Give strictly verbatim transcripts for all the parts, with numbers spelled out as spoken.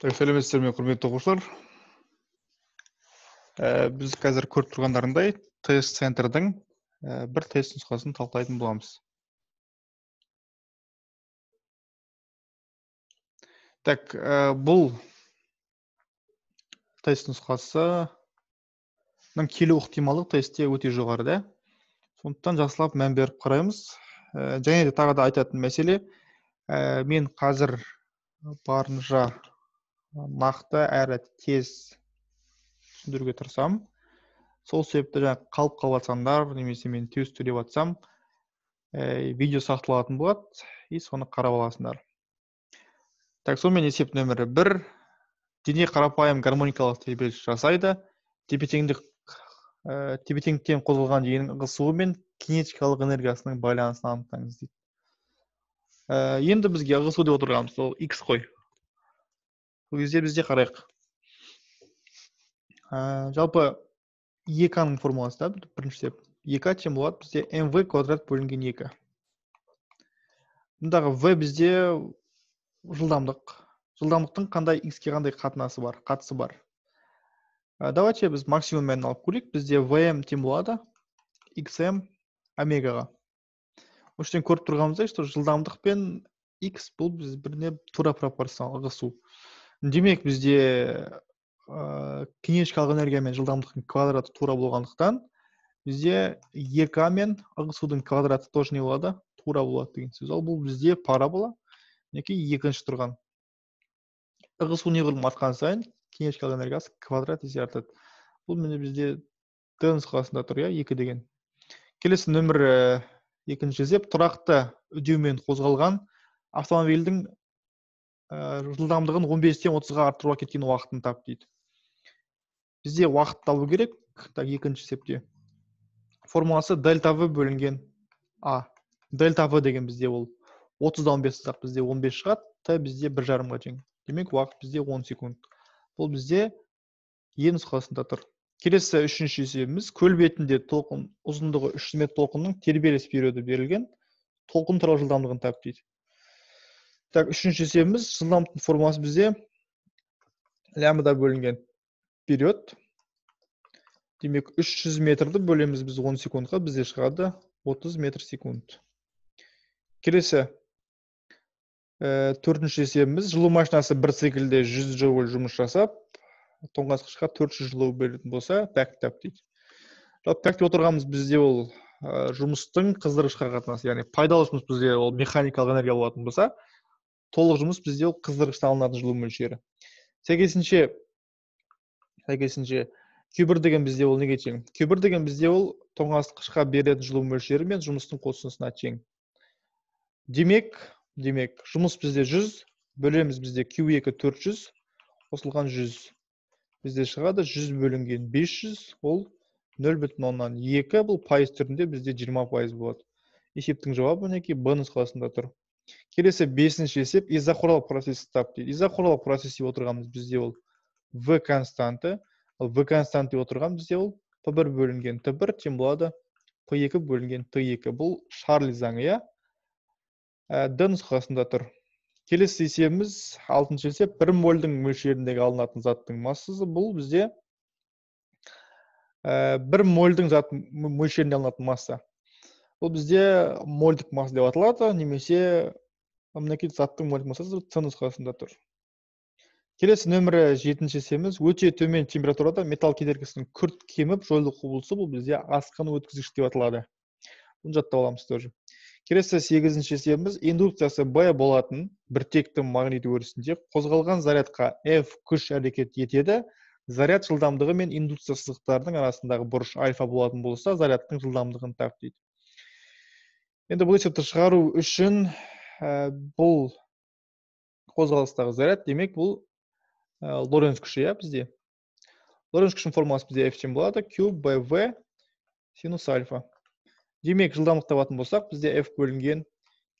Сәлеметсіздер ме, құрметті оқушылар. Ә, Біз қазір көріп тұрғандарындай тест центрдің ә, бір тест нұсқасын талқылайтын боламыз. Так, ә, бұл тест нұсқасының келу ықтималы тестте өте жоғары да. Сондықтан жақсылап мән беріп қараймыз. Ә, және де тағы да айтатын мәселе, ә, мен қазір барынша нақты әрі тез түсіндіруге тырысамын. Сол себепті жаңа қалып қалыватсаңдар, немесе мен тез төлеп атсам, ә, видео сақталатын болады, и соны қарап аласыңдар. Так, сонымен есеп нөмірі бір. Дене қарапайым гармоникалық тербеліс жасайды. Тепе-теңдік ә, тепе-теңдіктен қозғалған дененің ығысуы мен кинетикалық энергиясының байланысын анықтаңыз дейді. Ә, енді бізге ығысу деп отырғанымыз ол x қой. Бұл кезде бізде қарайық. Ә, жалпы еканың формуласы да бірінші деп. екі тең болады бізде mv квадрат бөлінген екі. Мұндағы v бізде жылдамдық. Жылдамдықтың қандай x-ке қандай қатынасы бар, қатысы бар. Ә, давайте біз максимум мәнін алып көрейік. Бізде vm тең болады xm омегаға. Оштен көріп тұрғанымыздай, что жылдамдық пен x бұл біз біріне тура пропорционал ығысу. Демек бізде ә, кинетикалық энергия мен жылдамдықтың квадраты тура болғандықтан, бізде екі мен ығысудың квадраты тоже не болады? Тура болады деген сөз. Ал бұл бізде парабола, неке екінші тұрған. Ығысу неғұрлым артқан сайын кинетикалық энергиясы квадрат есе артады. Бұл міне бізде д нұсқасында тұр, екі деген. Келесі нөмір екінші есеп, тұрақты үдеумен қозғалған автомобильдің ә, жылдамдығын он бестен отызға арттыруға кеткен уақытын тап дейді. Бізде уақыт табу керек. Так, екінші есепте. Формуласы дельта v бөлінген а. Дельта v деген бізде ол отыздан он бес сақ бізде он бес шығады, та бізде бір жарымға тең. Демек уақыт бізде он секунд. Бұл бізде е нұсқасында тұр. Келесі үшінші есебіміз, көл бетінде толқын ұзындығы үш жүз метр толқынның тербеліс периоды берілген, толқын туралы жылдамдығын тап дейді. Так, үшінші есебіміз, жылдамдықтың формуласы бізде лямбда бөлінген период. Демек үш жүз метрді бөлеміз біз он секундқа, бізде шығады отыз метр секунд. Келесі ә, төртінші есебіміз, жылу машинасы бір циклде жүз джоуль жұмыс жасап, тоңазытқышқа төрт жүз жылу беретін болса, тәк тап дейді. Тәк деп отырғанымыз бізде ол ә, жұмыстың қыздырғышқа қатынасы, яғни пайдалы жұмыс бізде ол механикалық энергия болатын болса, толық жұмыс бізде ол қыздырғыштан алынатын жылу мөлшері. Сәйкесінше, сәйкесінше Q бір деген бізде ол неге тең? Q бір деген бізде ол тоңазытқышқа беретін жылу мөлшері мен жұмыстың қосындысына тең. Демек, демек, жұмыс бізде жүз, бөлеміз бізде Q екі төрт жүз, қосылған жүз. Бізде шығады жүз бөлінген бес жүз, ол нөл бүтін оннан екі, бұл пайыз түрінде бізде жиырма пайыз болады. Есептің жауабы мінекей Б нұсқасында тұр. Келесі бесінші есеп, изохорлық процесс тап дейді. Изохорлық процесс деп отырғанымыз бізде ол V константы, ал V константы деп отырған бізде ол П бір бөлінген Т бір тең болады П екі бөлінген Т екі. Бұл Шарли заңы, иә? Д нұсқасында тұр. Келесі есебіміз, алтыншы есеп, бір мольдің мөлшеріндегі алынатын заттың массасы. Бұл бізде ә, бір мольдің зат мөлшерінде алынатын масса. Бұл бізде мольдік масса деп аталады, немесе мінекей заттың мольдік массасы С нұсқасында тұр. Келесі нөмірі жетінші есебіміз, өте төмен температурада металл кедергісінің күрт кеміп жойылу құбылысы, бұл бізде асқын өткізгіш деп аталады. Бұны жаттап аламыз тоже. Келесі сегізінші есебіміз, индукциясы Б болатын біртекті магнит өрісінде қозғалған зарядқа F күш әрекет етеді. Заряд жылдамдығы мен индукция сызықтарының арасындағы бұрыш альфа болатын болса, зарядтың жылдамдығын тап дейді. Енді бұл есепті шығару үшін ә, бұл қозғалыстағы заряд, демек бұл ә, Лоренц күші, иә, бізде. Лоренц күшінің формуласы бізде F тең болады, Q Б В синус альфа. Демек, жылдамдық табатын болсақ, бізде F бөлінген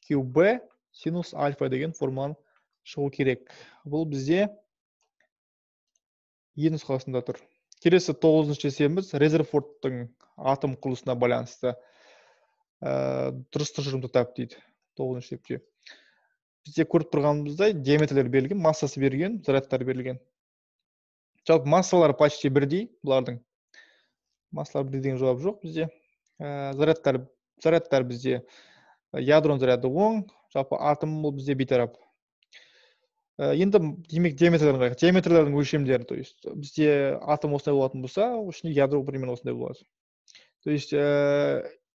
Q B синус альфа деген формуланы шығу керек. Бұл бізде Е нұсқасында тұр. Келесі тоғызыншы есебіміз, Резерфордтың атом құрылысына байланысты ә, дұрыс тұжырымды тап дейді. тоғызыншы есепте. бізде көріп тұрғанымыздай диаметрлер берілген, массасы берілген, зарядтар берілген. Жалпы массалары почти бірдей бұлардың. Массалар бірдей деген жауап жоқ бізде. Зарядтар, зарядтар бізде ядроның заряды оң, жалпы атом бұл бізде бейтарап. Енді демек диаметрлерін қарайық. Диаметрлердің өлшемдері, то есть бізде атом осындай болатын болса, ішінде ядро примерно осындай болады. То есть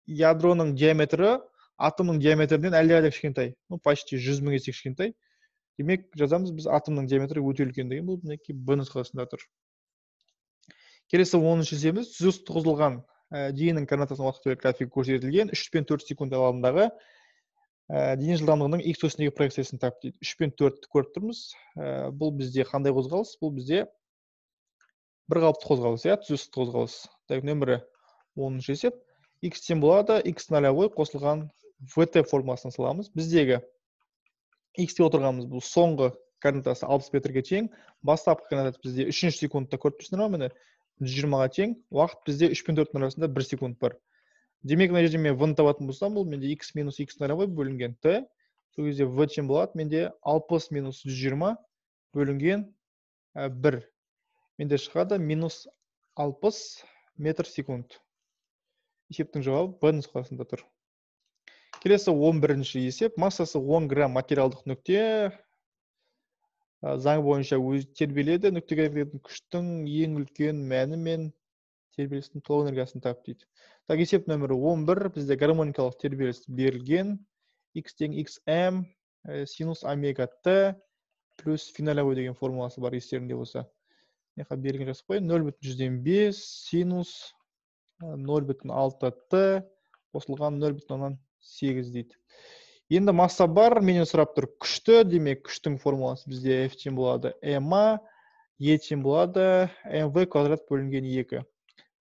ядроның диаметрі атомның диаметрінен әлдеқайда кішкентай. Ну, почти жүз мың есе кішкентай. Демек жазамыз біз атомның диаметрі өте үлкен деген, бұл мінекей Б нұсқасында тұр. Келесі оныншы есебіміз түзу тұрғызылған дененің координатасының уақыт графигі көрсетілген үш пен төрт секунд аралығындағы дене жылдамдығының x осіндегі проекциясын тап дейді. үш пен төртті көріп тұрмыз. Бұл бізде қандай қозғалыс? Бұл бізде бір қалыпты қозғалыс, иә, түзу қозғалыс. Так, нөмірі оныншы есеп. X тең болады, x нолевой қосылған vt формуласын саламыз. Біздегі x те отырғанымыз бұл соңғы координатасы алпыс метрге тең, бастапқы координатасы бізде үшінші секундта көріп тұрсыңдар ма міне жүз жиырмаға тең, уақыт бізде үш пен төрттің арасында бір секунд бар. Демек, мына жерде мен v-ны табатын болсам, бұл менде x минус x нолевой бөлінген t, сол кезде v тең болады, менде алпыс минус жүз жиырма бөлінген бір. Менде шығады минус алпыс метр секунд. Есептің жауабы Б нұсқасында тұр. Келесі он бірінші есеп. Массасы он грамм материалдық нүкте заң бойынша өз тербеледі. Нүктеге әкелетін күштің ең үлкен мәні мен тербелістің толық энергиясын тап дейді. Так, есеп нөмірі он бір. Бізде гармоникалық тербеліс берілген. X тең xm синус омега t плюс финолевой деген формуласы бар, естерінде болса. Неқа берілген жазып қойын. нөл бүтін жүзден бес синус нөл бүтін алты t қосылған нөл бүтін оннан сегіз дейді. Енді масса бар, менен сұрап тұр күшті, демек күштің формуласы бізде F тең болады ma, E тең болады mv квадрат бөлінген екі.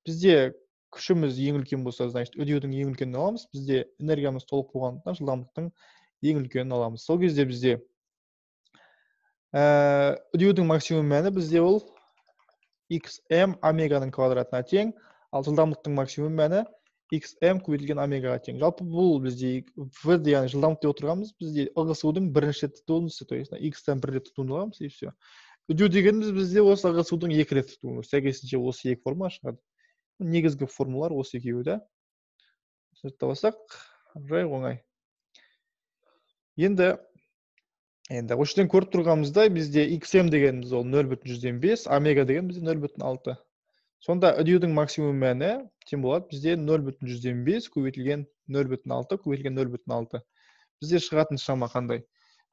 Бізде күшіміз ең үлкен болса, значит, үдеудің ең үлкенін аламыз. Бізде энергиямыз толық болғандықтан жылдамдықтың ең үлкенін аламыз. Сол кезде бізде үдеудің максимум мәні бізде ол xm омеганың квадратына тең, ал жылдамдықтың максимум мәні xm көбейтілген омегаға тең. Жалпы бұл бізде v, яғни жылдамдықта отырғанымыз, бізде ығысудың бірінші рет туындысы, то есть x-тен бір рет туындыламыз, и все. Үдеу дегеніміз бізде осы ығысудың екі рет туындысы. Сәйкесінше осы екі формула шығады. Негізгі формулалар осы екеуі, да. Сұрыптап жай оңай. Енді енді осы жерден көріп тұрғанымызда бізде xm дегеніміз ол нөл бүтін жүзден бес, омега деген бізде нөл бүтін алты. Сонда үдеудің максимум мәні тең болады бізде нөл бүтін жүзден бес көбейтілген нөл бүтін алты көбейтілген нөл бүтін алты. Бізде шығатын шама қандай?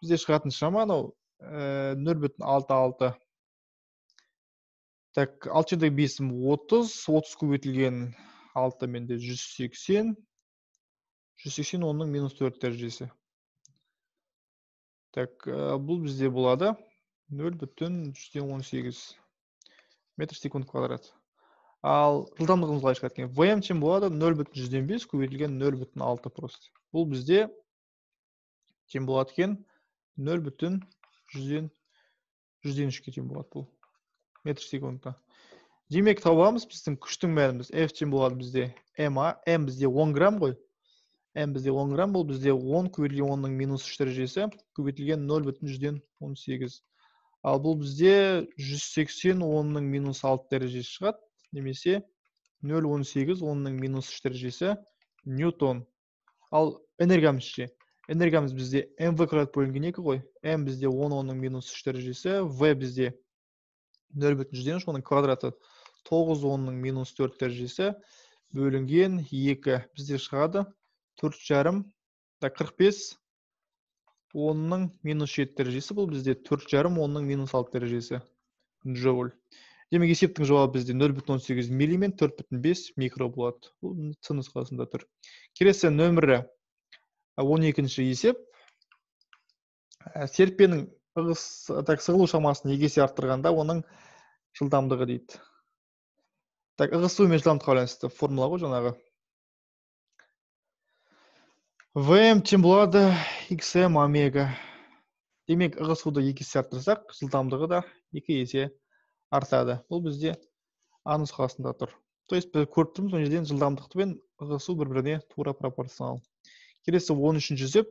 Бізде шығатын шама анау нөл бүтін алты алты. Так, алты жеті бес отыз, отыз көбейтілген алты менде жүз сексен. жүз сексен онның минус төрт дәрежесі. Так, бұл бізде болады нөл бүтін жүзден он сегіз метр секунд квадрат. Ал жылдамдығымыз қалай шығады екен? Vm тең болады нөл бүтін жүзден бес көбейтілген нөл бүтін алты просто. Бұл бізде тең болады екен нөл бүтін жүзден үшке тең болады бұл метр секундта. Демек табамыз біздің күштің мәніміз F тең болады бізде ma, m бізде он грамм ғой. m бізде он грамм, бұл бізде он көбейтілген онның минус үш дәрежесі көбейтілген нөл бүтін жүзден он сегіз. Ал бұл бізде жүз сексен онның минус алты дәрежесі шығады. Немесе нөл бүтін он сегіз онның минус үш дәрежесі ньютон. Ал энергиямыз ше? Энергиямыз бізде mv квадрат бөлінген екі ғой. m бізде он онның минус үш дәрежесі, v бізде нөл бүтін жүзден үш, оның квадраты тоғыз онның минус төрт дәрежесі бөлінген екі. Бізде шығады төрт жарым, қырық бес онның минус жеті дәрежесі, бұл бізде төрт жарым онның минус алты дәрежесі джоуль. Демек есептің жауабы бізде нөл бүтін он сегіз милли мен төрт бүтін бес микро болады. Бұл С нұсқасында тұр. Келесі нөмірі он екінші есеп. Серіппенің сығылу шамасын екі есе арттырғанда оның жылдамдығы дейді. Так, ығысу мен жылдамдыққа байланысты формула ғой жаңағы. Vm тең болады xm омега. Демек ығысуды екі есе арттырсақ, жылдамдығы да екі есе артады. Бұл бізде А нұсқасында тұр. То есть біз көріп тұрмыз, ол жерден жылдамдықты мен ығысу бір-біріне тура пропорционал. Келесі он үшінші есеп.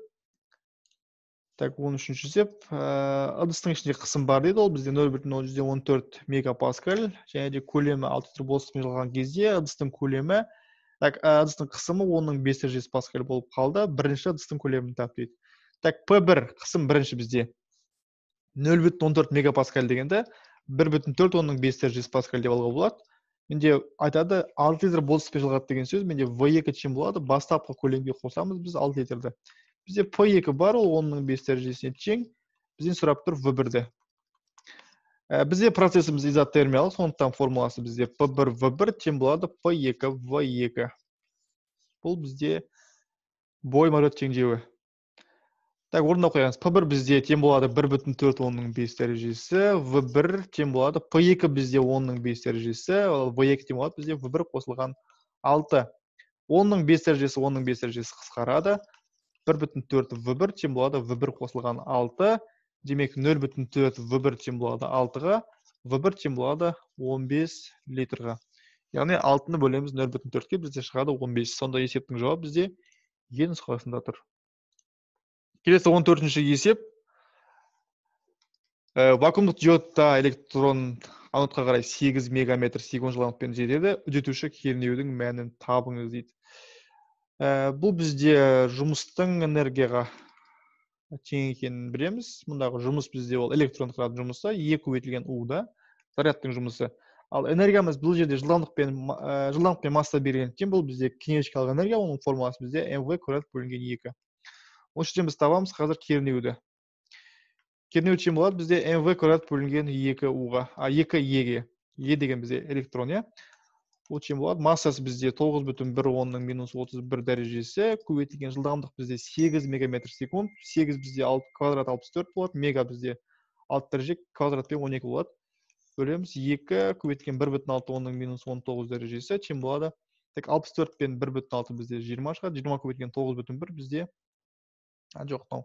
Так, он үшінші есеп. Ыдыстың ішінде қысым бар дейді, ол бізде нөл бүтін он төрт мегапаскаль, және де көлемі алты литр бос сумен жылған кезде ыдыстың көлемі, так, ыдыстың қысымы онның бес дәрежесі паскаль болып қалды. Бірінші ыдыстың көлемін тап дейді. Так, пэ бір қысым бірінші бізде нөл бүтін он төрт мегапаскаль дегенде бір бүтін төрт онның бес дәрежесі паскаль деп алуға болады. Менде айтады алты литр бос сумен жылғады деген сөз. Менде вэ екі чем болады? Бастапқы көлемге қосамыз біз алты литрді. Бізде пэ екі бар, ол онның бес дәрежесіне тең. Бізден сұрап тұр вэ бірді. Бізде процесіміз изотермиялық, сондықтан формуласы бізде пэ бір вэ бір тең болады пэ екі вэ екі. Бұл бізде бойма рет теңдеуі. Так, орындап қоямыз. пэ бір бізде тең болады бір бүтін төрт онның бес дәрежесі, вэ бір тең болады пэ екі бізде онның бес дәрежесі, вэ екі тең болады бізде вэ бір қосылған алты. онның бес дәрежесі онның бес дәрежесі қысқарады. бір бүтін төрт вэ бір тең болады вэ бір қосылған алты. Демек нөл бүтін төрт вэ бір тең болады алтыға, вэ бір тең болады он бес литрға. Яғни алтыны бөлеміз нөл бүтін төртке, бізде шығады он бес. Сонда есептің жауабы бізде е нұсқасында тұр. Келесі он төртінші есеп. Вакуумдық диодта электрон анодқа қарай сегіз мегаметр секунд жылдамдықпен жетеді. Үдетуші кернеудің мәнін табыңыз дейді. Бұл бізде жұмыстың энергияға тең екенін білеміз. Мұндағы жұмыс бізде ол электрон қыратын жұмысы, е көбейтілген у-да зарядтың жұмысы. Ал энергиямыз бұл жерде жылдамдықпен жылдамдықпен масса берілгендіктен бұл бізде кинетикалық энергия, оның формуласы бізде мв квадрат бөлінген екі. Осы жерден біз табамыз қазір кернеуді. Кернеу тең болады бізде мв квадрат бөлінген екі у-ға, а екі е-ге. Е деген бізде электрон, иә. Ол тең болады. Массасы бізде тоғыз бүтін бір онның минус отыз бір дәрежесі, көбейтілген жылдамдық бізде сегіз мегаметр секунд. сегіз бізде квадрат алпыс төрт болады, мега бізде алты дәреже, квадратпен он екі болады. Бөлеміз екі көбейтілген бір бүтін алты онның минус он тоғыз дәрежесі тең болады. Так, алпыс төрт пен бір бүтін алты бізде жиырма шығады. жиырма көбейтілген тоғыз бүтін бір бізде жоқ, мынау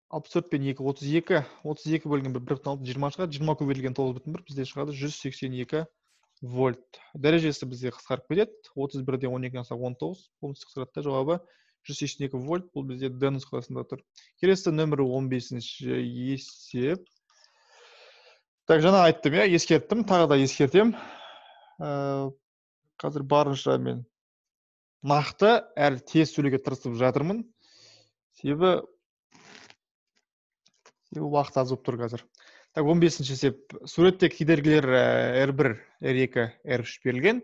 алпыс төрт пен екі отыз екі, отыз екі бөлінген бір бүтін алты жиырма шығады. жиырма көбейтілген тоғыз бүтін бір бізде шығады жүз сексен екі вольт. Дәрежесі бізде қысқарып кетеді. отыз бірден он екіден алсақ он тоғыз. Бұл қысқарады. Жауабы жүз сексен екі вольт. Бұл бізде Д нұсқасында тұр. Келесі нөмірі он бесінші есеп. Так, жаңа айттым, я ескерттім, тағы да ескертем. Қазір барынша мен нақты әрі тез сөйлеуге тырысып жатырмын. Себебі уақыт аз болып тұр қазір. Так, он бесінші есеп. Суретте кедергілер эр бір, эр екі, эр үш берілген.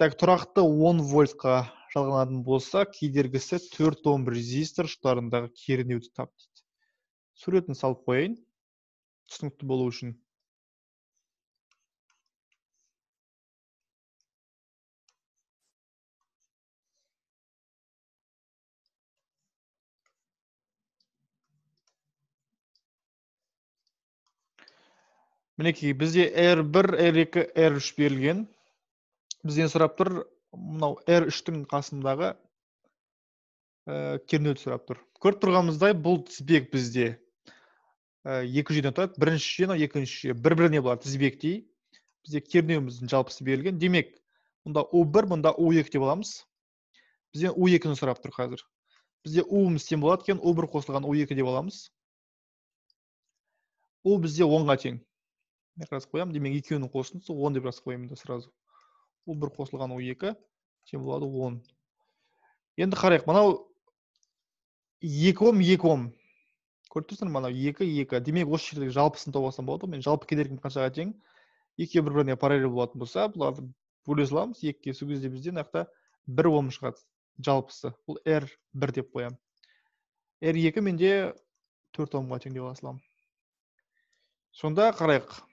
Так, тұрақты он вольтқа жалғанатын болса, кедергісі төрт ом резистор ұштарындағы кернеуді тап дейді. Суретін салып қойайын, түсінікті болу үшін. Мінекей, бізде эр бір, эр екі, эр үш берілген. Бізден сұрап тұр, мынау эр үштің қасындағы кернеуді сұрап тұр. Көріп тұрғанымыздай, бұл тізбек бізде екі жүйеден тұрады. Бірінші жүйе, екінші жүйе бір-біріне бұлар тізбектей. Бізде кернеуіміздің жалпысы берілген. Демек, мұнда у бір, мұнда у екі деп аламыз. Бізден у екіні сұрап тұр қазір. Бізде у-ымыз тең болады екен, у бір қосылған у екі деп аламыз. У бізде онға тең. Мен жазып қоямын. Демек, екеуінің қосындысы он деп жазып қоямын да сразу. у бір қосылған у екі тең болады он. Енді қарайық, мынау екі ом, екі ом. Көріп тұрсыңдар, мынау екі, екі. Демек, осы жердегі жалпысын тауып алсам болады. Мен жалпы кедергім қаншаға тең? Екеуі бір-біріне параллель болатын болса, бұларды бөле саламыз. екіге сол кезде бізде мынақта бір ом шығады жалпысы. Бұл эр бір деп қоямын. эр екі менде төрт омға тең деп алсам. Сонда қарайық.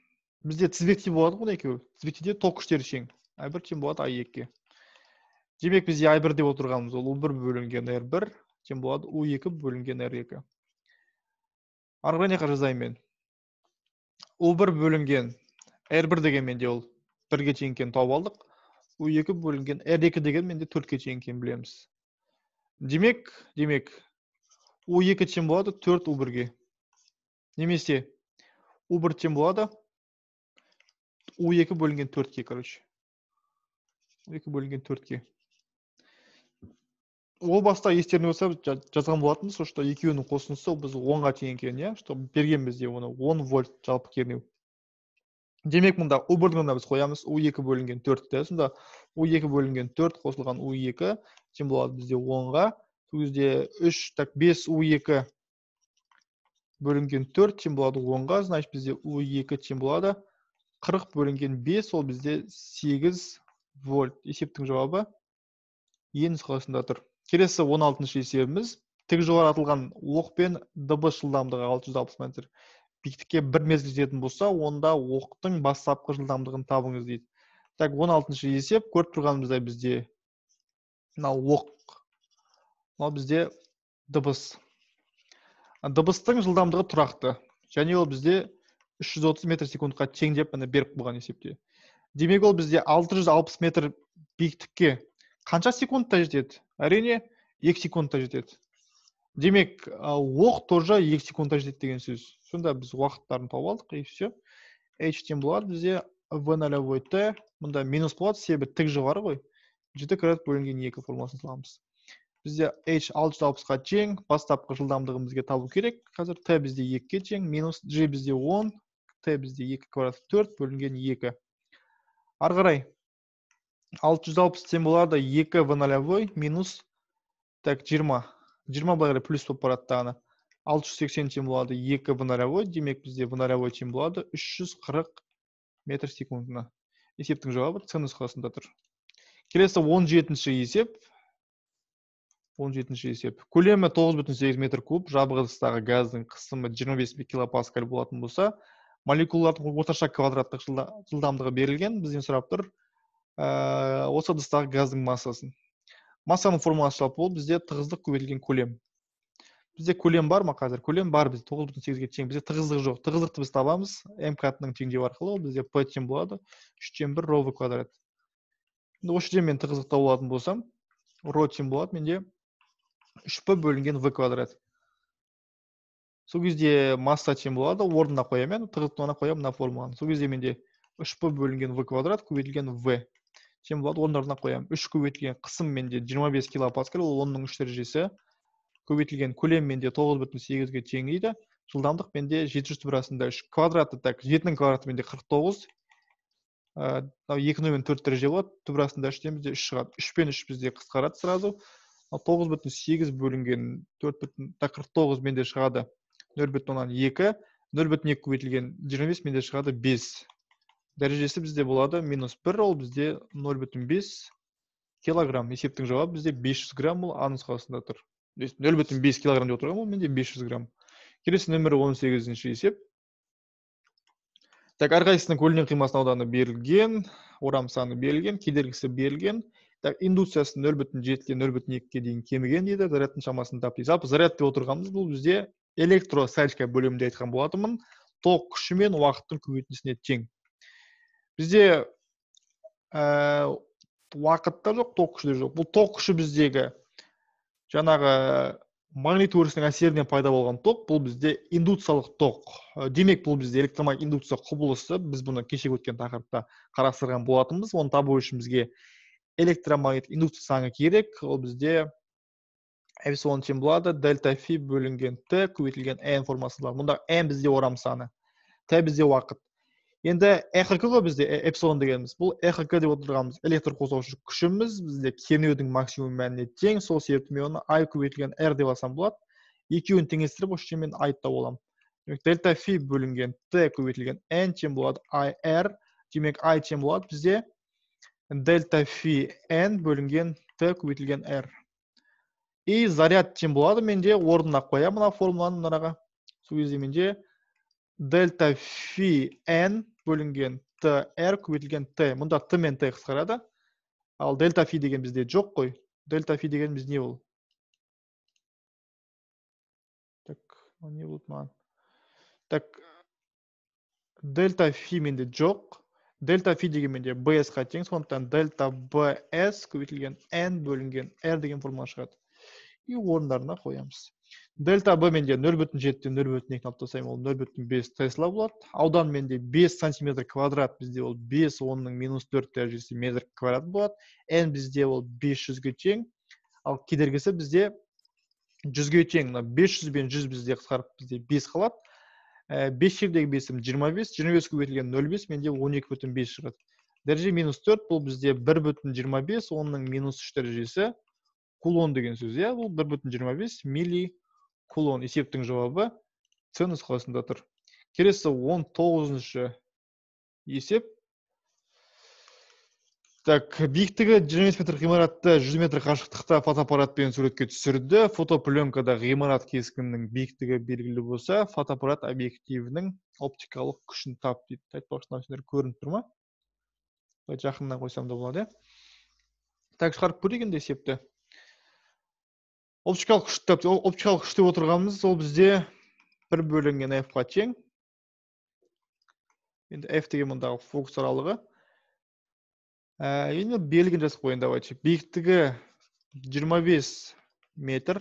Бізде тізбекте болады ғой екеуі. Тізбектеде ток күштері тең. ай бір тең болады ай екіге. Демек, бізде ай бір деп отырғанымыз ол у бір бөлінген эр бір тең болады у екі бөлінген эр екі. Ары қарай не жазайын мен? у бір бөлінген эр бір деген менде ол бірге тең екенін тауып алдық. у екі бөлінген эр екі деген менде төртке тең екенін білеміз. Демек, демек у екі тең болады төрт у бірге. Немесе у бір тең болады у екі бөлінген төртке, короче. у екі бөлінген төртке. Ол баста естеріңде болса жа- жазған болатынбыз, что екеуінің қосындысы ол біз онға тең екен, иә, что берген бізде оны он вольт жалпы кернеу. Демек, мұнда у бірдің біз қоямыз, у екі бөлінген төртті. Сонда у екі бөлінген төрт қосылған у екі тең болады бізде онға. Сол кезде үш, так бес у екі бөлінген төрт тең болады онға. Значит, бізде у екі тең болады қырық бөлінген бес, ол бізде сегіз вольт. Есептің жауабы е нұсқасында тұр. Келесі он алтыншы есебіміз. Тік жоғарылатылған оқпен дыбыс жылдамдығы алты жүз алпыс метр биіктікке бір мезгіл жететін болса, онда оқтың бастапқы жылдамдығын табыңыз дейді. Так, он алтыншы есеп, көріп тұрғанымыздай бізде мынау оқ, мынау бізде дыбыс. Дыбыстың жылдамдығы тұрақты, және ол бізде үш жүз отыз метр секундқа тең деп міне беріп қойған есепте. Демек, ол бізде алты жүз алпыс метр биіктікке қанша секундта жетеді? Әрине, екі секундта жетеді. Демек, оқ тоже екі секундта жетеді деген сөз. Сонда біз уақыттарын тауып алдық, и все. H тең болады бізде v нолевой t, мұнда минус болады, себебі тік жоғары ғой. жеті квадрат бөлінген екі формуласын саламыз. Бізде H алты жүз алпысқа тең, бастапқы жылдамдығын бізге табу керек. Қазір t бізде екіге тең, минус g бізде он, t бізде екі квадрат төрт бөлінген екі. Ары қарай алты жүз алпыс тең болады екі v нолевой минус так жиырма. жиырма былай қарай плюс болып барады тағына. алты жүз сексен тең болады екі v нолевой, демек бізде v нолевой тең болады үш жүз қырық метр секундына. Есептің жауабы С нұсқасында тұр. Келесі он жетінші есеп. он жетінші есеп. Көлемі тоғыз бүтін сегіз метр куб, жабық ыдыстағы газдың қысымы жиырма бес килопаскаль болатын болса, молекулалардың орташа квадраттық жылдамдығы берілген. Бізден сұрап тұр осы ыдыстағы газдың массасын. Массаның формуласы жалпы ол бізде тығыздық көбейтілген көлем. Бізде көлем бар ма қазір? Көлем бар, бізде тоғыз бүтін сегізге тең. Бізде тығыздық жоқ. Тығыздықты біз табамыз. М кратының теңдеуі арқылы бізде P тең болады. үштен бір ро в квадрат. Осы жерден мен тығыздық тауып алатын болсам, ро тең болады менде үш п бөлінген в квадрат. Сол кезде масса тең болады, орнына қоямын, тығыздықты орнына қоямын мына формуланы. Сол кезде менде үш п бөлінген в квадрат көбейтілген в тең болады, орындарына қоямын. үш көбейтілген қысым менде жиырма бес килопаскаль, ол онның үш дәрежесі. Көбейтілген көлем менде тоғыз бүтін сегізге тең дейді. Жылдамдық менде жеті жүз түбірасында үш квадраты, так, жетінің квадраты менде қырық тоғыз. екі нөл төрт дәреже болады. Түбірасында үштен бізде үш шығады. үш пен үш бізде қысқарады сразу. тоғыз бүтін сегіз бөлінген төрт бүтін қырық тоғыз менде шығады нөл бүтін оннан екі. нөл бүтін екі көбейтілген жиырма бес менде шығады бес. Дәрежесі бізде болады минус бір, ол бізде нөл бүтін бес килограмм. Есептің жауабы бізде бес жүз грамм, ол А нұсқасында тұр. нөл бүтін бес килограмм деп отырған, ол менде бес жүз грамм. Келесі нөмірі он сегізінші есеп. Так, әрқайсысының көлінен қимасының ауданы берілген, орам саны берілген, кедергісі берілген. Так, индукциясы нөл бүтін жетіден нөл бүтін екіге дейін кеміген дейді, зарядтың шамасын тап дейді. Жалпы заряд деп отырғанымыз бұл бізде электростатика бөлімінде айтқан болатынмын. Ток күші мен уақыттың көбейтіндісіне тең. Бізде уақытта жоқ, ток күші жоқ. Бұл ток күші біздегі жаңағы магнит өрісінің әсерінен пайда болған ток, бұл бізде индукциялық ток. Демек, бұл бізде электромагнит индукция құбылысы. Біз бұны кеше өткен тақырыпта қарастырған болатынбыз. Оны табу үшін бізге электромагнит индукция заңы керек. Ол бізде эпсилон тең болады дельта фи бөлінген т көбейтілген n формасында. Мұнда n бізде орам саны, т бізде уақыт. Енді эхк ғой бізде эпсилон дегеніміз. Бұл эхк деп отырғанымыз электр қозғаушы күшіміз бізде кернеудің максимум мәніне тең. Сол себепті мен оны I көбейтілген R деп алсам болады. Екеуін теңестіріп, осы жермен I тауып аламын. Демек, дельта фи бөлінген т көбейтілген n тең болады I R. Демек, I тең болады бізде дельта фи n бөлінген т көбейтілген R. И заряд тең болады менде, орнына қоямын мына формуланы мынаға. Сол кезде менде дельта фи n бөлінген т r көбейтілген т. Мұнда т мен т қысқарады. Ал дельта фи деген бізде жоқ қой. Дельта фи деген біз не ол? Так, не болды маған. Так, дельта фи менде жоқ. Дельта фи деген менде bs-қа тең, сондықтан дельта bs көбейтілген n бөлінген r деген формула шығады. И орындарына қоямыз. Дельта Б менде нөл бүтін жетіден нөл бүтін екіні алып тастаймын, ол нөл бүтін бес тесла болады. Аудан менде бес сантиметр квадрат, бізде ол бес онның минус төрт дәрежесі метр квадрат болады. N бізде ол бес жүзге тең. Ал кедергісі бізде жүзге тең. Мына бес жүз бен жүз бізде қысқарып бізде бес қалады. бес жердегі бесім жиырма бес, жиырма бес көбейтілген нөл бүтін оннан бес, менде он екі бүтін бес шығады. Дәреже минус төрт, бұл бізде бір бүтін жиырма бес, оның минус үш дәрежесі кулон деген сөз. Иә, бұл бір бүтін жиырма бес милли кулон. Есептің жауабы С нұсқасында тұр. Келесі он тоғызыншы есеп. Так, биіктігі жиырма бес метр ғимаратты жүз метр қашықтықта фотоаппаратпен суретке түсірді. Фотопленкада ғимарат кескінінің биіктігі белгілі болса, фотоаппарат объективінің оптикалық күшін тап дейді. Айтпақшы нәрселер көрініп тұр ма? Жақыннан қойсам да болады. Так, шығарып көрейік енді есепті. Оптикалық күшті тап, оптикалық күшті отырғанымыз, ол бізде бір бөлінген F-ға тең. Енді F деген мұндағы фокус аралығы. Енді белгін жазып қойын, давайте. Биіктігі жиырма бес метр,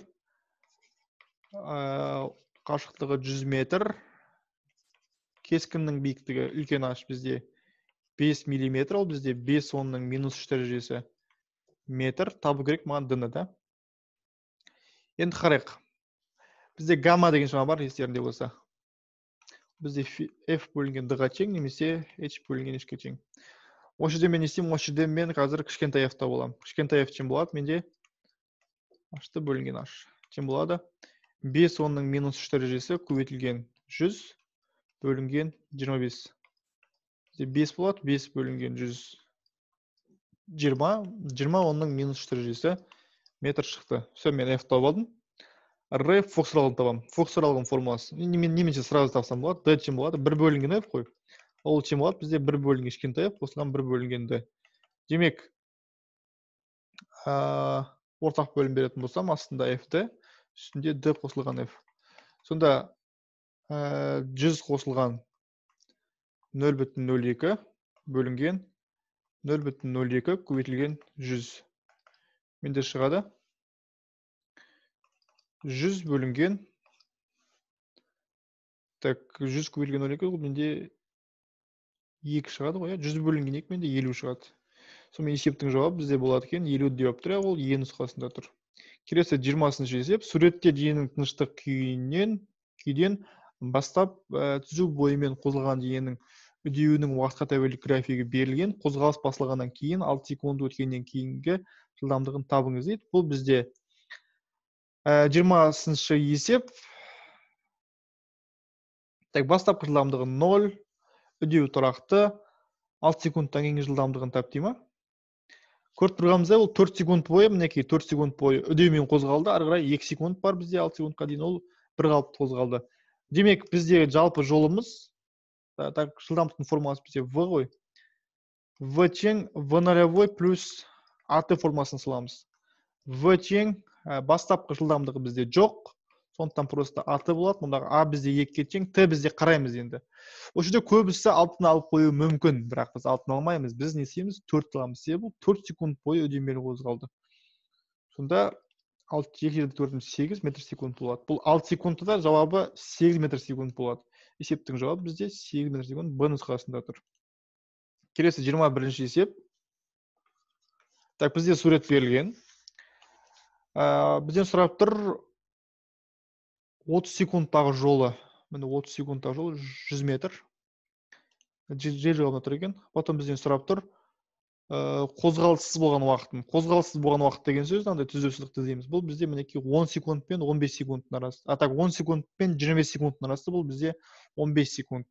қашықтығы жүз метр, кескіннің биіктігі үлкен аш бізде бес миллиметр, ол бізде бес онның минус үш дәрежесі метр, табу керек маған діні, да? Енді қарайық. Бізде гамма деген шама бар, естерінде болса. Бізде F бөлінген D-ға тең, немесе H бөлінген H-ке тең. Осы жерде мен естеймін, осы жерде мен қазір кішкентай F-та болам. Кішкентай F тең болады, менде H-ты бөлінген H тең болады. бес онның минус үш дәрежесі көбейтілген жүз бөлінген жиырма бес. бес болады, бес бөлінген жүз жиырма, жиырма онның минус үш дәрежесі метр шықты. Все, мен F тауып алдым. R фокус аралығын табам. Фокус аралығын формуласы. Немесе сразу тапсам болады. D тең болады, бір бөлінген F қой. Ол тең болады, бізде бір бөлінген кішкентай F, қосылған бір бөлінген D. Демек, ортақ бөлім беретін болсам, астында F-ді, үстінде D қосылған F. Сонда жүз қосылған нөл бүтін нөл екі бөлінген нөл бүтін нөл екі көбейтілген жүз. Менде шығады жүз бөлінген, так, жүз көбейтілген нөл екі, менде екі шығады ғой, жүз бөлінген екі, менде елу шығады. Сонымен есептің жауабы бізде болады екен, елу деп тұр, ол Е нұсқасында тұр. Келесі жиырмасыншы есеп. Суретте дененің тыныштық күйінен күйден бастап түзу бойымен қозғалған дененің үдеуінің уақытқа тәуелді графигі берілген. Қозғалыс басылғаннан кейін алты секунд өткеннен кейінгі жылдамдығын табыңыз дейді. Бұл бізде жиырмасыншы есеп. Так, бастапқы жылдамдығы нөл, үдеу тұрақты, алты секундтан кейінгі жылдамдығын тап дейме. Көріп тұрғанымызда ол төрт секунд бойы, мінекей төрт секунд бойы үдеумен қозғалды, ары қарай екі секунд бар бізде, алты секундқа дейін ол бір қалыпты қозғалды. Демек, бізде жалпы жолымыз, так, жылдамдықтың формуласы бізде V ғой. V тең V нолевой плюс AT формуласын саламыз. V тең бастапқы жылдамдығы бізде жоқ, сондықтан просто AT болады, мұндағы A бізде екіге тең, T бізде қараймыз енді. Осы жерде көбісі алтын алып қою мүмкін, бірақ біз алтын алмаймыз. Біз не істейміз? төрт аламыз. Себебі төрт секунд бойы үдемелі қозғалды. Сонда екі жерде төрт сегіз метр секунд болады. Бұл алты секундта жауабы сегіз метр секунд болады. Есептің жауабы бізде сегіз метр секунд Б нұсқасында тұр. Келесі жиырма бірінші есеп. Так, бізде сурет берілген. Бізден сұрап тұр отыз секундтағы жолы. Міне отыз секундтағы жолы жүз метр. Жер жауабына тұр екен. Потом бізден сұрап тұр қозғалыссыз болған уақытын. Қозғалыссыз болған уақыт деген сөз, андай түзу сызықты іздейміз. Бұл бізде мінекей он секунд пен он бес секундтың арасы. А так он секунд пен жиырма бес секундтың арасы, бұл бізде он бес секунд.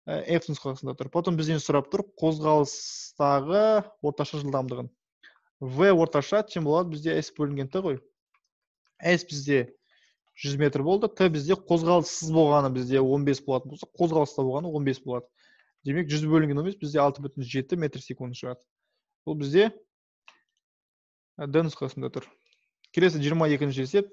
F нұсқасында тұр. Потом бізден сұрап тұр қозғалыстағы орташа жылдамдығын. V орташа тең болады бізде S бөлінген Т ғой. S бізде жүз метр болды, Т бізде қозғалыссыз болғаны бізде он бес болатын болса, қозғалыста болғаны он бес болады. Демек, жүз бөлінген он бес бізде алты бүтін жеті метр секунд шығады. Бұл бізде D нұсқасында тұр. Келесі жиырма екінші есеп.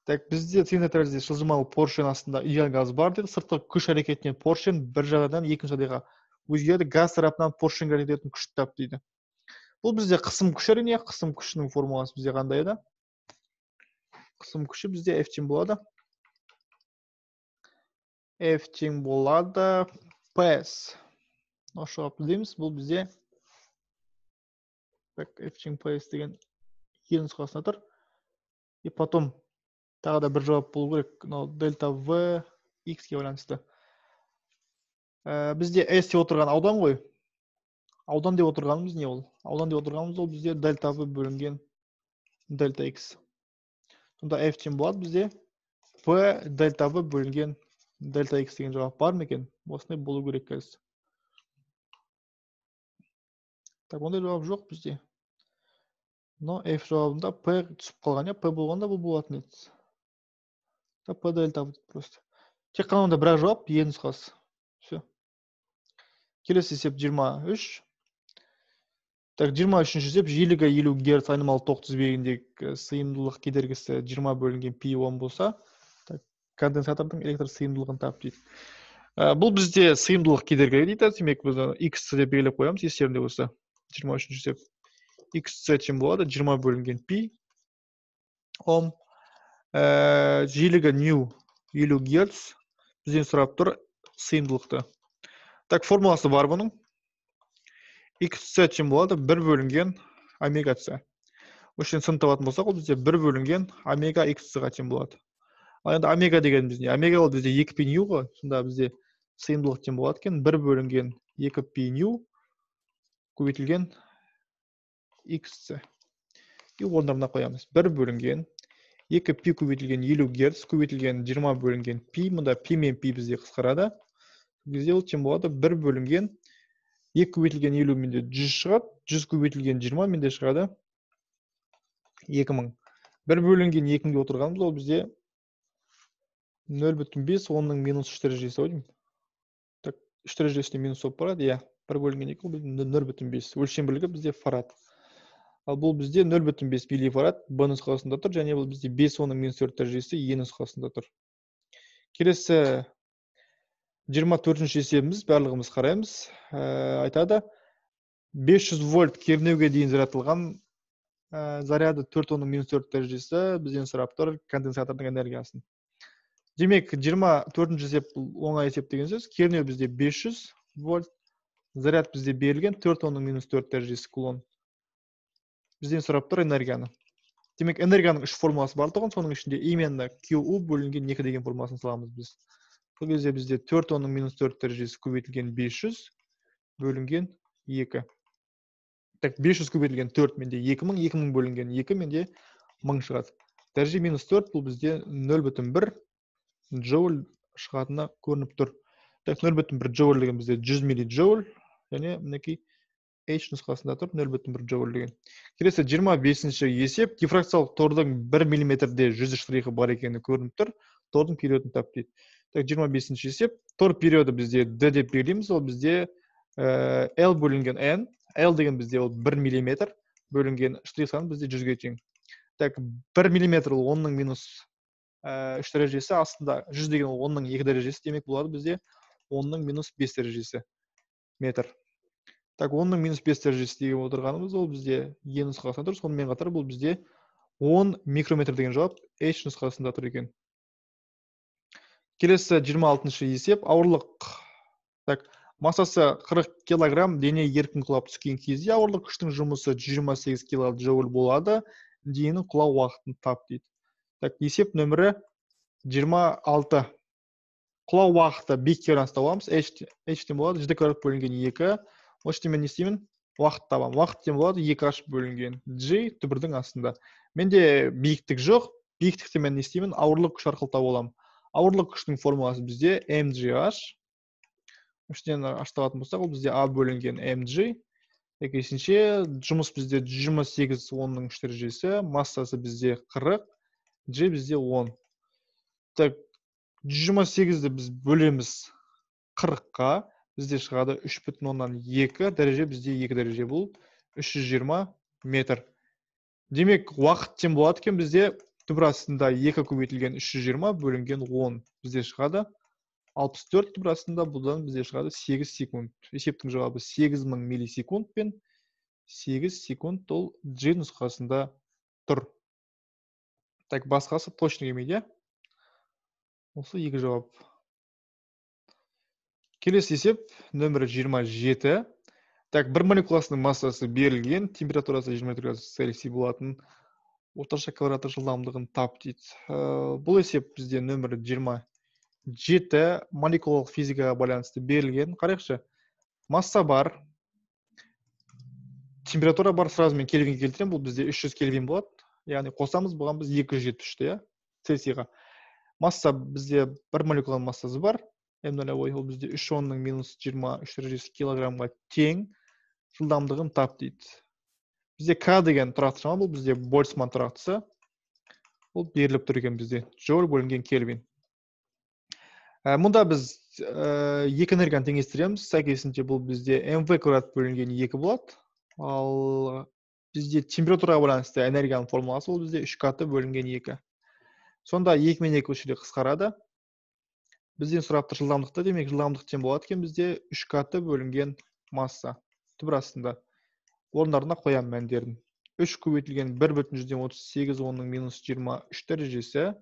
Так, бізде цилиндр жылжымалы поршень астында идеал газ бар деді. Сыртқы күш әрекетінен поршень бір жағадан екінші жағдайға өзгереді. Газ тарапынан поршеньге әрекет ететін күшті тап дейді. Бұл бізде қысым күш әрине, қысым күшінің формуласы бізде қандай еді? Қысым күші бізде F тең болады. F тең болады Ps. Ашығап білдейміз, бұл бізде F тең Ps деген е нұсқасында тұр. И потом тағы да бір жауап болу керек, мынау дельта v x-ке байланысты. Ә, бізде s деп отырған аудан ғой. Аудан деп отырғанымыз не ол? Аудан деп отырғанымыз ол бізде дельта v бөлінген дельта x. Сонда f тең болады бізде p дельта v бөлінген дельта x деген жауап бар ма екен? Осындай болу керек қазір. Так, ондай жауап жоқ бізде. Но f жауабында p түсіп қалған, я p болғанда бұл болатын еді. Так, p дельта v просто. Тек қана онда бірақ жауап е нұсқасы. Все. Келесі есеп жиырма үш. Так, жиырма үшінші есеп жиілігі елу герц айнымалы ток тізбегіндегі сыйымдылық кедергісі жиырма бөлінген пи он болса, так, конденсатордың электр сыйымдылығын тап дейді. Ә, бұл бізде сыйымдылық кедергі дейді. Демек біз x деп белгілеп қоямыз есебінде болса. жиырма үшінші есеп x тең болады жиырма бөлінген пи ом. Ә, жиілігі нью елу герц. Бізден сұрап тұр сыйымдылықты. Так, формуласы бар бұның. X тең болады бір бөлінген омега c. Өшін сын табатын болсақ, ол бізде бір бөлінген омега x-ға тең болады. Ал енді омега деген бізде, омега ол бізде екі пи нью ғой. Сонда бізде сыйымдылық тең болады екен бір бөлінген екі пи нью көбейтілген xc. И орындарына қоямыз. бір бөлінген екі пи көбейтілген елу герц көбейтілген жиырма бөлінген пи. Мұнда пи мен пи бізде қысқарады. Бізде ол тең болады бір бөлінген екі көбейтілген елу менде жүз шығады, жүз көбейтілген жиырма менде шығады екі мың. бір бөлінген екі мыңға отырғанымыз ол бізде нөл бүтін бес онның минус үш дәрежесі ау деймін. Так, үш дәрежесіне минус болып барады, иә. бір бөлінген екі ол бізде нөл бүтін бес. Өлшем бірлігі бізде фарад. Ал бұл бізде нөл бүтін бес милифарад б нұсқасында тұр, және бұл бізде бес онның минус төрт дәрежесі е нұсқасында тұр. Келесі жиырма төртінші есебіміз, барлығымыз қараймыз. Ә, айтады, бес жүз вольт кернеуге дейін жаратылған ә, заряды төрт онның минус төрт дәрежесі бізден сұрап тұр конденсатордың энергиясын. Демек, жиырма төртінші есеп оңай есеп деген сөз. Кернеу бізде бес жүз вольт, заряд бізде берілген төрт онның минус төрт дәрежесі кулон. Бізден сұрап тұр энергияны. Демек, энергияның үш формуласы бар тұғын, соның ішінде именно Q U бөлінген екі деген формуласын саламыз біз. Бұл кезде бізде төрт онның минус төрт дәрежесі көбейтілген бес жүз бөлінген екі. Так, бес жүз көбейтілген төрт менде екі мың, екі мың бөлінген екі менде мың шығады. Дәреже минус төрт бұл бізде нөл бүтін бір джоуль шығатына көрініп тұр. Так, нөл бүтін бір джоуль деген бізде жүз миллиджоуль, және мінекей H нұсқасында тұр нөл бүтін бір джоуль деген. Келесі жиырма бесінші есеп, дифракциялық тордың бір миллиметрде жүз штрихы бар екені көрініп тұр. Тордың периодын тап дейді. Так, жиырма бесінші есеп, тор периоды бізде D деп белгілейміз, ол бізде ә, L бөлінген N. L деген бізде ол бір миллиметр бөлінген штрих саны бізде жүзге тең. Так, бір миллиметр ол онның минус үш дәрежесі, астында жүз деген ол онның екі дәрежесі, демек болады бізде онның минус бес дәрежесі метр. Так, онның минус бес дәрежесі деген отырғанымыз ол бізде е нұсқасында тұр. Сонымен қатар бұл бізде он микрометр деген жауап H нұсқасында тұр екен. Келесі жиырма алтыншы есеп, ауырлық. Так, массасы қырық килограмм, дене еркін құлап түскен кезде ауырлық күштің жұмысы жүз жиырма сегіз килоджоуль болады. Дененің құлау уақытын тап дейді. Так, есеп нөмірі жиырма алты. Құлау уақыты биікке байланысты аламыз. H тең болады ж квадрат бөлінген екі. Осы мен не істеймін? Уақыт табам. Уақыт тең болады екі h бөлінген G түбірдің астында. Менде биіктік жоқ. Биіктікте мен не істеймін? Ауырлық күш арқылы тауып аламын. Ауырлық күштің формуласы бізде mgh. Үштен ашталатын болсақ, ол бізде А бөлінген mg. Екіншінше жұмыс бізде жүз жиырма сегіз онның үш дәрежесі, массасы бізде қырық, G бізде он. Так, жүз жиырма сегізді біз бөлеміз қырыққа, бізде шығады үш бүтін оннан екі дәреже, бізде екі дәреже бұл үш жүз жиырма метр. Демек, уақыт тең болады екен бізде түбір астында екі көбейтілген үш жүз жиырма бөлінген он бізде шығады алпыс төрт, түбір астында бұдан бізде шығады сегіз секунд. Есептің жауабы сегіз мың миллисекунд пен сегіз секунд ол G нұсқасында тұр. Так, басқасы точно келмейді. Осы екі жауап. Келесі есеп нөмірі жиырма жеті. Так, бір молекуласының массасы берілген, температурасы жиырма төрт градус Цельсий болатын. орташа квадраттық жылдамдығын тап дейді. Бұл есеп бізде нөмірі жиырма жеті молекулалық физикаға байланысты берілген. Қарайықшы, масса бар, температура бар, сразу мен кельвинге келтірем, бұл бізде үш жүз кельвин болады. Яғни қосамыз, бұған біз екі жүз жетпіс үшті, Цельсийға. Масса бізде бір молекуланың массасы бар. эм нөл ой, ол бізде үш онның минус жиырма үш дәрежесі килограммға тең. Жылдамдығын тап дейді. Бізде К деген тұрақты шама, бұл бізде Больцман тұрақтысы. Бұл беріліп тұр екен бізде. Джоуль бөлінген кельвин. Мұнда біз екі энергияны теңестіреміз. Сәйкесінше бұл бізде эм вэ квадрат бөлінген екі болады. Ал бізде температураға байланысты энергияның формуласы ол бізде үш каты бөлінген екі. Сонда екі мен екі үшіде қысқарады. Бізден сұрапты жылдамдықты, демек жылдамдық тең болады екен бізде үш каты бөлінген масса. Түбір астында орындарына қоям мәндерін. үш көбейтілген бір бүтін жүзден отыз сегіз онның минус жиырма үш дәрежесі.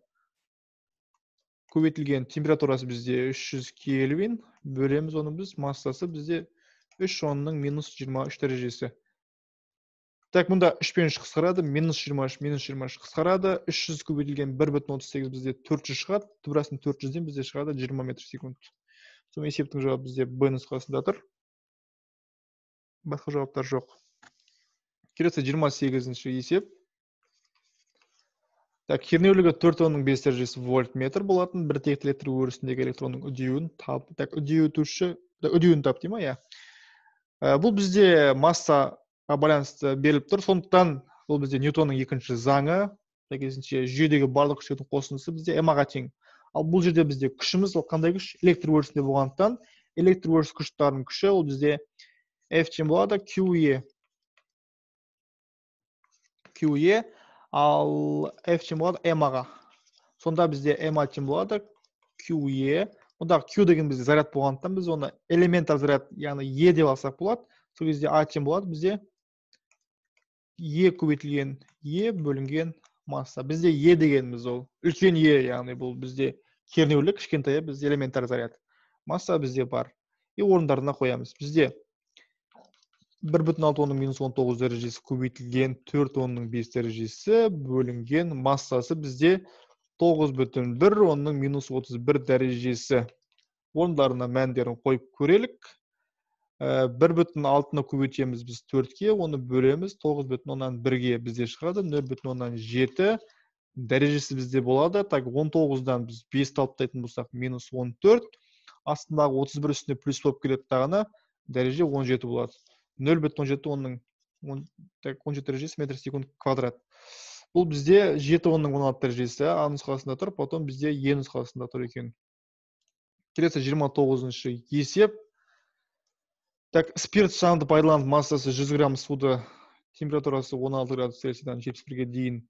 Көбейтілген температурасы бізде үш жүз кельвин. Бөлеміз оның біз массасы бізде үш онның минус жиырма үш дәрежесі. Так, мұнда үш пен үш қысқарады, минус жиырма үш, минус жиырма үш қысқарады. үш жүз көбейтілген бір бүтін отыз сегіз бізде төрт жүз шығады. Түбірастың төрт жүзден бізде шығады жиырма метр секунд. Сол есептің жауабы бізде Б нұсқасында тұр. Басқа жауаптар жоқ. Келесі жиырма сегізінші есеп. Так, кернеулігі төрт онның бес дәрежесі вольтметр болатын. Бір текті электр өрісіндегі электронның үдеуін тап. Так, үдеуітуші, үдеуін тап деймін, я. Бұл бізде масса байланысты беріліп тұр. Сондықтан бұл бізде Ньютонның екінші заңы. Сәйкесінше жүйедегі барлық күштердің қосындысы бізде эм-ға тең. Ал бұл жерде бізде күшіміз ол қандай күш? Электр өрісінде болғандықтан электр өріс күштарының күші ол бізде F тең болады Q E. Q E, ал F тең болады эм-ға. Сонда бізде эм-ға тең болады Q E. Ондағы Q деген бізде заряд болғандықтан біз оны элементар заряд, яғни E деп алсақ болады. Сол кезде А тең болады бізде Е көбейтілген Е бөлінген масса. Бізде Е дегеніміз ол үлкен Е, яғни бұл бізде кернеулік, кішкентай бізде элементар заряд. Масса бізде бар. И орындарына қоямыз. Бізде бір бүтін алты онның минус он тоғыз дәрежесі көбейтілген төрт онның бес дәрежесі бөлінген массасы бізде тоғыз бүтін бір онның минус отыз бір дәрежесі. Орындарына мәндерін қойып көрелік. бір бүтін алтыны көбейтеміз біз төртке, оны бөлеміз тоғыз бүтін оннан бірге бізде шығады, нөл бүтін оннан жеті дәрежесі бізде болады. Так, он тоғыздан біз бесті алып тастайтын болсақ, минус он төрт. Астындағы отыз бір үстіне плюс болып келеді тағына, дәреже он жеті болады. нөл бүтін он жеті онның он жеті дәрежесі метр секунд квадрат. Бұл бізде жеті онның он алты дәрежесі А нұсқасында тұр, потом бізде Е нұсқасында тұр екен. Келесі жиырма тоғызыншы есеп. Так, спирт шамды пайдаланып массасы жүз грамм суды температурасы он алты градус Цельсийдан жетпіс бірге дейін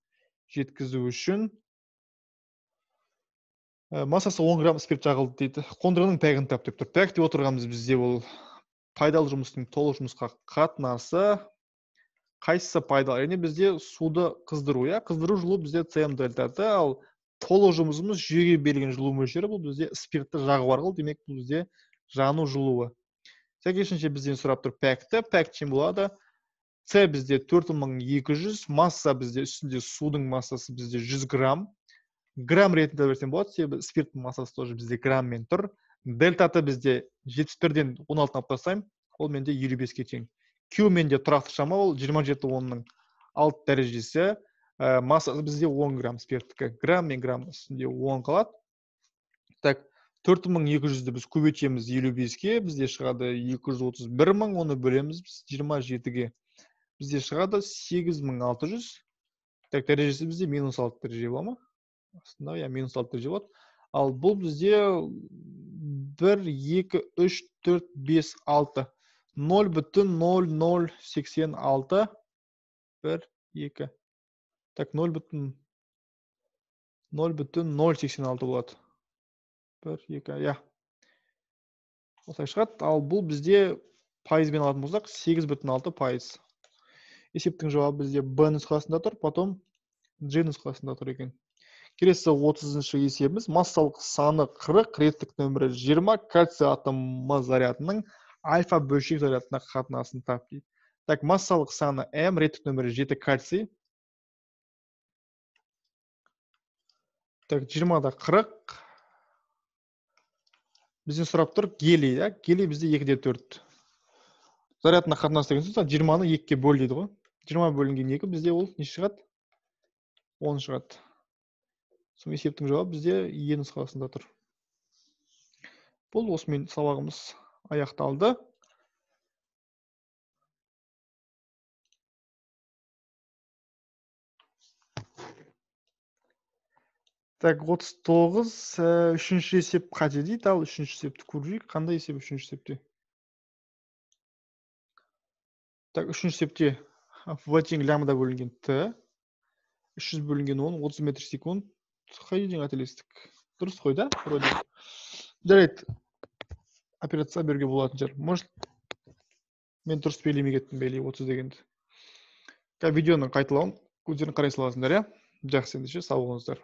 жеткізу үшін массасы он грамм спирт жағылды дейді. Қондырғының пәгін тап деп тұр. Пәк деп отырғанымыз бізде ол пайдалы жұмыстың толық жұмысқа қатынасы. Қайсысы пайдалы? Яғни бізде суды қыздыру, я, қыздыру жылу бізде Cm дельтаты, ал толық жұмысымыз жүйеге берілген жылу мөлшері, бұл бізде спиртті жағу арқылы, демек бұл бізде жану жылуы. Сәйкесінше бізден сұрап тұр пәкті. Пәк тең болады. С бізде төрт мың екі жүз, масса бізде үстінде судың массасы бізде жүз грамм. Грамм ретінде берсем болады, себебі спирттің массасы тоже бізде грамммен тұр. Дельтаты бізде жетпіс бірден он алтыны алып тастаймын, ол менде елу беске тең. Q менде тұрақты шама, ол жиырма жеті онның алты дәрежесі. Массасы бізде он грамм спирттікі. Грамм мен грамм үстінде он қалады. Так, төрт мың екі жүзді біз көбейтеміз елу беске, бізде шығады екі жүз отыз бір мың, оны бөлеміз біз жиырма жетіге. Бізде шығады сегіз мың алты жүз. Так, дәрежесі бізде минус алты дәреже бола ма? Астында, я, минус алты дәреже болады. Ал бұл бізде бір, екі, үш, төрт, бес, алты. нөл бүтін нөл нөл сексен алты. бір, екі. Так, нөл бүтін нөл сексен алты болады. бір, екі, я. Осылай шығады. Ал бұл бізде пайызбен алатын болсақ, сегіз бүтін алты пайыз. Есептің жауабы бізде Б нұсқасында тұр, потом Ж нұсқасында тұр екен. Келесі отызыншы есебіміз. Массалық саны қырық, реттік нөмірі жиырма, кальций атомы зарядының альфа бөлшек зарядына қатынасын тап дейді. Так, массалық саны М, реттік нөмірі жеті кальций. Так, жиырмада қырық. Бізден сұрап тұр гелий, да? Гелий бізде екіде төрт. Зарядына қатынасы деген сөз, жиырманы екіге бөл дейді ғой. жиырма бөлінген екі бізде ол не шығады? он шығады. Сол есептің жауабы бізде Е нұсқасында тұр. Бұл осымен сабағымыз аяқталды. Так, отыз тоғыз, үшінші есеп қате дейді, ал үшінші есепті көрейік. Қандай есеп үшінші есепте? Так, үшінші есепте В тең лямбда бөлінген Т, үш жүз бөлінген он, отыз метр секунд. Қай жерден қателестік? Дұрыс қой, да? Жарайды. Операция беруге болатын шығар. Может, мен дұрыс белгілемей кеттім, белгілей отыз дегенді. Видеоның қайталауын өздерің қарай саласыңдар, иә? Жақсы ендеше, сау болыңыздар.